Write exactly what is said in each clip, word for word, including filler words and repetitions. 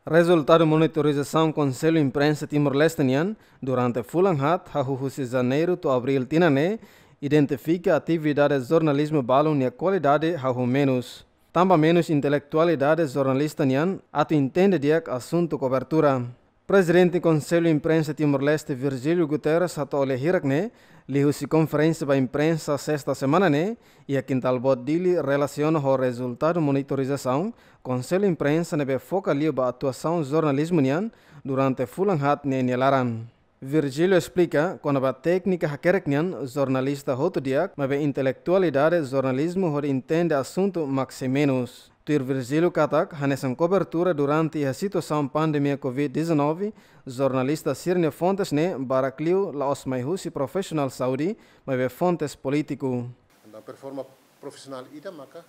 Rezultadu monitorizasaun Konsellu Imprensa Timor-Leste nian durante fulan haat, hahú husi Janeiru to'o Abríl tinan ne'e, identifika atividade jornalizmu balun nia kualidade hahú menus. Tanba menus intelektualidade jornalista nian atu entende di'ak asuntu kobertura. Prezidente Konsellu Imprensa Timor-Leste, Virgílio Guterres, hato'o lia hirak ne'e liuhusi konferénsia ba imprensa sesta semana ne'e iha Kintal Boot, Dili, relasiona ho rezultadu monitorizasaun Konsellu Imprensa ne'ebé foka liu ba atuasaun jornalizmu nian durante fulan haat ne'e nia laran. Virgílio esplika kona-ba téknika hakerek nian jornalista hotu di'ak, maibé intelektualidade jornalizmu hodi entende asuntu mak sei menus. Tuir Virgílio katak, hanesan kobertura durante iha situasaun pandemia covid dezanove, jornalista sira-nia fontes ne'e barak liu la'ós mai husi profisionál saúde, maibé fontes polítiku. Entaun, performa profisionál ida maka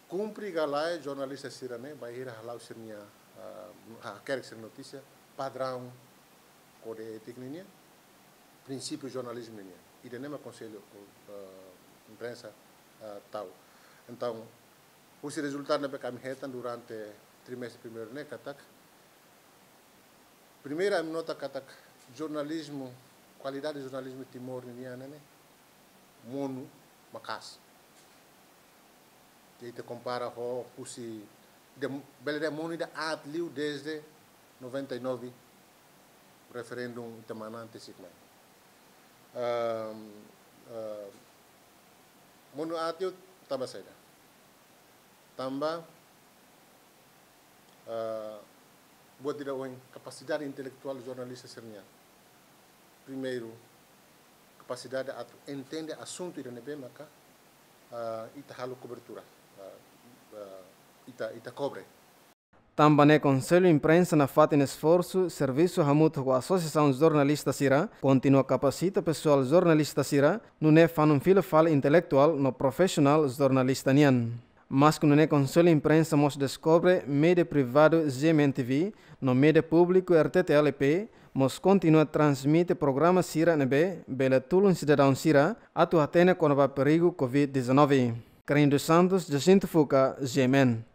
kumpre ka lae jornalista sira-ne'e, bainhira hala'o sira-nia, ah, hakerek sira-nia notísia, padraun kódigu étika ninian, prinsípiu jornalizmu ninian. Ida-ne'e mak Konsellu, ah, Imprensa, ah, tau. Entaun, husi rezultadu ne'ebé ami hetan durante trimestre primeiru ne'e katak, primeiru, ami nota katak jornalizmu, kualidade jornalizmu Timor ninian ne'e monu maka'as. Ita kompara ho husi, de, bele dehan monu ida aat liu desde noventa e nove, referendum ita manán to'o ohin mai. Ehm, ehm, monu aat liu tanba saida? Tanba, ah, buat ida ohin, kapasidade intelektuál jornalista sira-nian. Primeiru, kapasidade atu entende asuntu ida ne'ebé maka, ah, ita halo kobertura, ah, ah, ita, ita kobre. Tanba ne'e Konsellu Imprensa nafatin esforsu, servisu hamutuk ho asosiasaun jornalista sira, kontinua kapasita pesoál jornalista sira, nune'e fanun fila fali intelektuál no profisionál jornalista nian. Maske nune'e Konsellu Imprensa mós deskobre média privadu G M N T V no média públiku R T T L P mós kontinua transmite programa sira ne'ebé bele tulun sidadaun sira atu hatene kona-ba perigu covid dezanove. Carlinhos dos Santos, Jacinto Fuca, G M N.